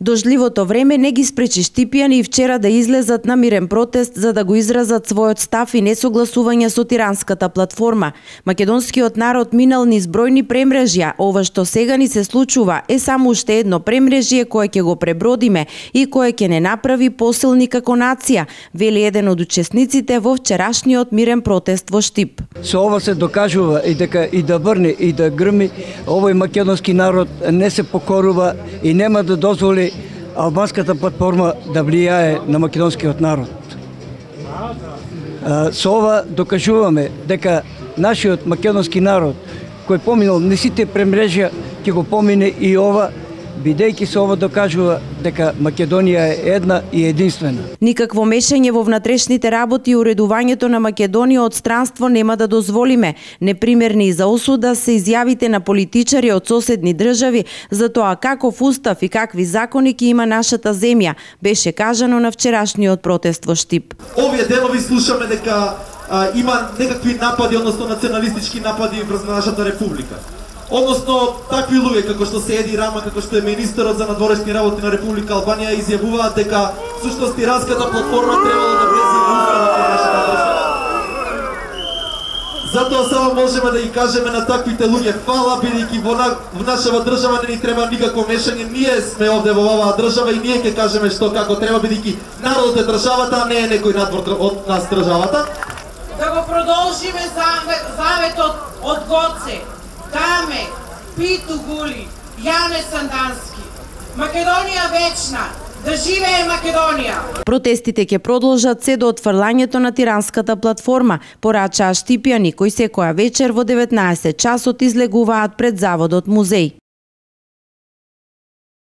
Дождливото време не ги спречи штипјани и вчера да излезат на мирен протест за да го изразат својот став и несогласување со тиранската платформа. Македонскиот народ минал низ бројни премрежја, ова што сега ни се случува е само уште едно премрежје кое ќе го пребродиме и кое ќе не направи посилни како нација, вели еден од учесниците во вчерашниот мирен протест во Штип. Со ова се докажува и дека и да врне и да грми, овој македонски народ не се покорува и нема да дозволи албанската платформа да влијае на македонскиот народ. Со ова докажуваме дека нашиот македонски народ кој поминал не сите премрежја ќе го помине и ова, бидејќи се ова докажува дека Македонија е една и единствена. Никакво мешање во внатрешните работи и уредувањето на Македонија од странство нема да дозволиме. Непримерни за осуда се изјавите на политичари од соседни држави за тоа каков устав и какви закони ќе има нашата земја, беше кажано на вчерашниот протест во Штип. Овие денови слушаме дека има некакви напади, односно националистички напади врз нашата република. Односно, такви луѓе како што се Еди Рама, како што е министерот за надворешни работи на Република Албанија, изјавуваат дека всушност тиранската платформа требало да влезе во уставот на нашата држава. Затоа само можеме да ги кажеме на таквите луѓе фала, бидејќи во нашава држава не ни треба никакво мешање. Ние сме овде во оваа држава и ние ќе кажеме што како треба, бидејќи народот е државата, а не е некој надвор од нас државата. Да го продолжиме заветот од Гоце. Даме, Питу Гули, Јане Сандански. Македонија вечна, да живее Македонија! Протестите ќе продолжат се до отфрлањето на тиранската платформа, порачаа штипјани кои секоја вечер во 19 часот излегуваат пред заводот музеј.